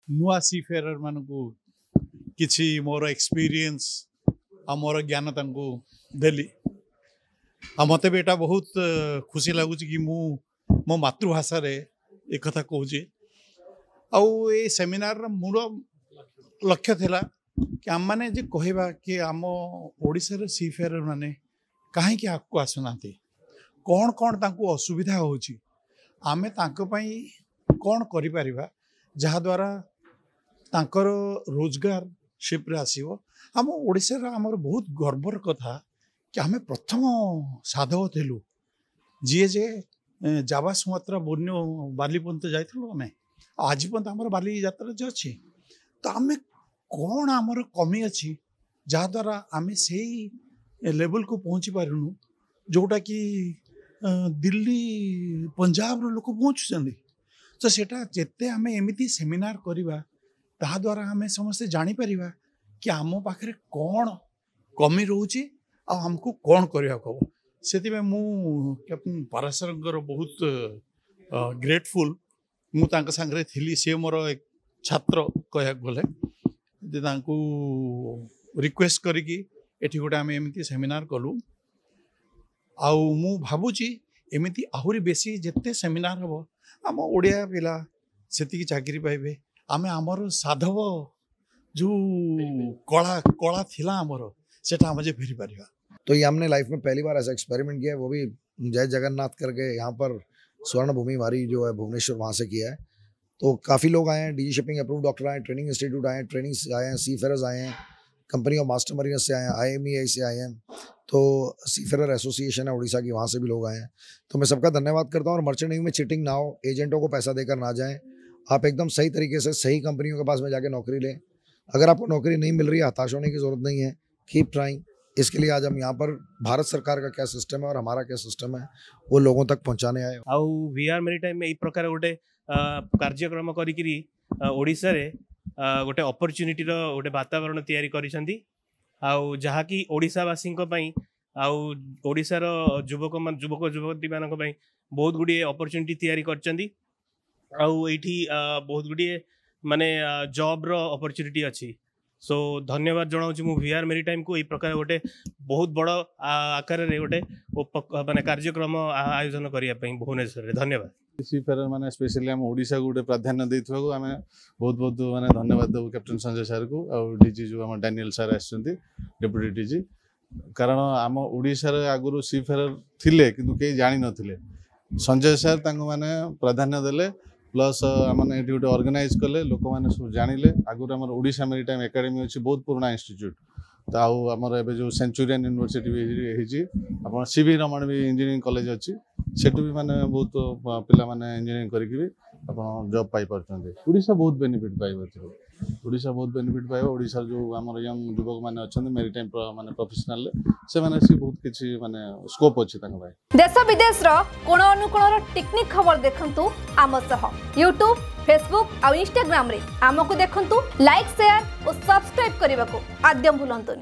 ନୂଆ ସି ଫେରର ମାନଙ୍କୁ କିଛି ମୋର ଏକ୍ସପିରିଏନ୍ସ ଆଉ ମୋର ଜ୍ଞାନ ତାଙ୍କୁ ଦେଲି। ଆଉ ମୋତେ ବି ଏଇଟା ବହୁତ ଖୁସି ଲାଗୁଛି କି ମୁଁ ମୋ ମାତୃଭାଷାରେ ଏ କଥା କହୁଛି। ଆଉ ଏ ସେମିନାରର ମୂଳ ଲକ୍ଷ୍ୟ ଥିଲା କି ଆମମାନେ ଯେ କହିବା କି ଆମ ଓଡ଼ିଶାର ସି ଫେରର ମାନେ କାହିଁକି ଆଗକୁ ଆସୁନାହାନ୍ତି, କ'ଣ କ'ଣ ତାଙ୍କୁ ଅସୁବିଧା ହେଉଛି, ଆମେ ତାଙ୍କ ପାଇଁ କ'ଣ କରିପାରିବା ଯାହାଦ୍ୱାରା ତାଙ୍କର ରୋଜଗାର ସିପ୍ରେ ଆସିବ। ଆମ ଓଡ଼ିଶାର ଆମର ବହୁତ ଗର୍ବର କଥା କି ଆମେ ପ୍ରଥମ ସାଧବ ଥିଲୁ ଯିଏ ଯେ ଜାଭା, ସୁମାତ୍ରା, ବୋର୍ଣ୍ଣିଓ, ବାଲି ପର୍ଯ୍ୟନ୍ତ ଯାଇଥିଲୁ ଆମେ। ଆଉ ଆଜି ପର୍ଯ୍ୟନ୍ତ ଆମର ବାଲି ଯାତ୍ରା ଯେ ଅଛି, ତ ଆମେ କ'ଣ ଆମର କମି ଅଛି ଯାହାଦ୍ୱାରା ଆମେ ସେଇ ଲେଭେଲକୁ ପହଞ୍ଚି ପାରୁନୁ ଯେଉଁଟାକି ଦିଲ୍ଲୀ, ପଞ୍ଜାବର ଲୋକ ପହଞ୍ଚୁଛନ୍ତି। ତ ସେଇଟା ଯେତେ ଆମେ ଏମିତି ସେମିନାର କରିବା, ତାହାଦ୍ୱାରା ଆମେ ସମସ୍ତେ ଜାଣିପାରିବା କି ଆମ ପାଖରେ କ'ଣ କମି ରହୁଛି ଆଉ ଆମକୁ କ'ଣ କରିବାକୁ ହେବ। ସେଥିପାଇଁ ମୁଁ କ୍ୟାପ୍ଟେନ୍ ପାରାଶରଙ୍କର ବହୁତ ଗ୍ରେଟଫୁଲ୍। ମୁଁ ତାଙ୍କ ସାଙ୍ଗରେ ଥିଲି, ସିଏ ମୋର ଏକ ଛାତ୍ର କହିବାକୁ ଗଲେ, ଯେ ତାଙ୍କୁ ରିକ୍ୱେଷ୍ଟ କରିକି ଏଠି ଗୋଟେ ଆମେ ଏମିତି ସେମିନାର କଲୁ। ଆଉ ମୁଁ ଭାବୁଛି ଏମିତି ଆହୁରି ବେଶୀ ଯେତେ ସେମିନାର ହେବ, ଆମ ଓଡ଼ିଆ ପିଲା ସେତିକି ଚାକିରି ପାଇବେ। ଆମେ ଆମର ସାଧବ ଯେଉଁ କଳା ଥିଲା ଆମର, ସେଟା ଆମେ ଯେ ଫେରିପାରିବା। तो ये हमने लाइफ में पहली बार ऐसा एक्सपेरिमेंट किया है, वो भी जय जगन्नाथ करके यहाँ पर स्वर्ण भूमि हमारी जो है भुवनेश्वर, वहाँ से किया है। तो काफ़ी लोग आए हैं, डीजी शिपिंग अप्रूव डॉक्टर आए हैं, ट्रेनिंग इंस्टीट्यूट आए हैं, ट्रेनिंग आए हैं, सी फेरर्स आए हैं, कंपनी ऑफ मास्टर मरीनर्स से आए हैं, आईएमईआई से आए हैं, तो सी फेरर एसोसिएशन है उड़ीसा की, वहाँ से भी लोग आए हैं। तो मैं सबका धन्यवाद करता हूँ। और मर्चेंट नेवी में चीटिंग ना हो, एजेंटों को पैसा देकर ना जाएँ, आप एकदम सही तरीके से सही कंपनियों के पास में जाके नौकरी लें। अगर आपको नौकरी नहीं मिल रही है, हताश होने की ज़रूरत नहीं है, कीप ट्राइंग। इसके लिए आज हम यहाँ पर भारत सरकार का क्या सिस्टम है और हमारा क्या सिस्टम है, वो लोगों तक पहुँचाने आए। ଆଉ ଭିଆର୍ ମେରିଟାଇମ୍ ଏଇ ପ୍ରକାର ଗୋଟେ କାର୍ଯ୍ୟକ୍ରମ କରିକିରି ଓଡ଼ିଶାରେ ଗୋଟେ ଅପରଚ୍ୟୁନିଟିର ଗୋଟେ ବାତାବରଣ ତିଆରି କରିଛନ୍ତି, ଆଉ ଯାହାକି ଓଡ଼ିଶାବାସୀଙ୍କ ପାଇଁ ଆଉ ଓଡ଼ିଶାର ଯୁବକ ଯୁବତୀମାନଙ୍କ ପାଇଁ ବହୁତ ଗୁଡ଼ିଏ ଅପରଚ୍ୟୁନିଟି ତିଆରି କରିଛନ୍ତି। ଆଉ ଏଇଠି ବହୁତ ଗୁଡ଼ିଏ ମାନେ ଜବ୍ର ଅପରଚ୍ୟୁନିଟି ଅଛି। ସୋ ଧନ୍ୟବାଦ ଜଣାଉଛି ମୁଁ ଭିଆର୍ ମେରିଟାଇମ୍କୁ, ଏଇ ପ୍ରକାର ଗୋଟେ ବହୁତ ବଡ଼ ଆକାରରେ ଗୋଟେ ମାନେ କାର୍ଯ୍ୟକ୍ରମ ଆୟୋଜନ କରିବା ପାଇଁ ଭୁବନେଶ୍ୱରରେ। ଧନ୍ୟବାଦ। ସି ଫେରର ମାନେ ସ୍ପେଶାଲି ଆମ ଓଡ଼ିଶାକୁ ଗୋଟେ ପ୍ରାଧାନ୍ୟ ଦେଇଥିବାକୁ ଆମେ ବହୁତ ବହୁତ ମାନେ ଧନ୍ୟବାଦ ଦେବୁ କ୍ୟାପ୍ଟେନ୍ ସଞ୍ଜୟ ସାର୍କୁ ଆଉ ଡିଜି ଯେଉଁ ଆମ ଡାନିଏଲ ସାର୍ ଆସିଛନ୍ତି, ଡେପୁଟି ଡିଜି। କାରଣ ଆମ ଓଡ଼ିଶାରେ ଆଗରୁ ସି ଫେରର ଥିଲେ କିନ୍ତୁ କେହି ଜାଣିନଥିଲେ। ସଞ୍ଜୟ ସାର୍ ତାଙ୍କୁ ମାନେ ପ୍ରାଧାନ୍ୟ ଦେଲେ, ପ୍ଲସ୍ ମାନେ ଏଠି ଗୋଟେ ଅର୍ଗାନାଇଜ୍ କଲେ, ଲୋକମାନେ ସବୁ ଜାଣିଲେ। ଆଗରୁ ଆମର ଓଡ଼ିଶା ମେରିଟାଇମ୍ ଏକାଡେମୀ ଅଛି, ବହୁତ ପୁରୁଣା ଇନଷ୍ଟିଚ୍ୟୁଟ୍। ତ ଆଉ ଆମର ଏବେ ଯେଉଁ ସେଞ୍ଚୁରିଆନ୍ ୟୁନିଭର୍ସିଟି ବି ହେଇଛି, ଆପଣ ସି ଭି ରମଣ ବି ଇଞ୍ଜିନିୟରିଂ କଲେଜ ଅଛି, ସେଠୁ ବି ମାନେ ବହୁତ ପିଲାମାନେ ଇଞ୍ଜିନିୟରିଂ କରିକି ବି ଆପଣ ଜବ୍ ପାଇପାରୁଛନ୍ତି। ଓଡ଼ିଶା ବହୁତ ବେନିଫିଟ୍ ପାଇବ ଏଥିରୁ, ଓଡ଼ିଶା ବହୁତ ବେନିଫିଟ୍ ପାଇବ। ଓଡ଼ିଶାର ଯେଉଁ ଆମର ୟଙ୍ଗ ଯୁବକମାନେ ଅଛନ୍ତି ମେରିଟାଇମ୍ ମାନେ ପ୍ରଫେସନାଲରେ, ସେମାନେ ଆସି ବହୁତ କିଛି ମାନେ ସ୍କୋପ୍ ଅଛି ତାଙ୍କ ପାଇଁ। ଦେଶ ବିଦେଶର କୋଣ ଅନୁକୋଣର ଟିକିନିଖି ଖବର ଦେଖନ୍ତୁ ଆମ ସହ ୟୁଟ୍ୟୁବ୍, ଫେସବୁକ୍ ଆଉ ଇନଷ୍ଟାଗ୍ରାମରେ ଆମକୁ ଦେଖନ୍ତୁ। ଲାଇକ୍, ସେୟାର ଓ ସବସ୍କ୍ରାଇବ୍ କରିବାକୁ ଆଦୌ ଭୁଲନ୍ତୁନି।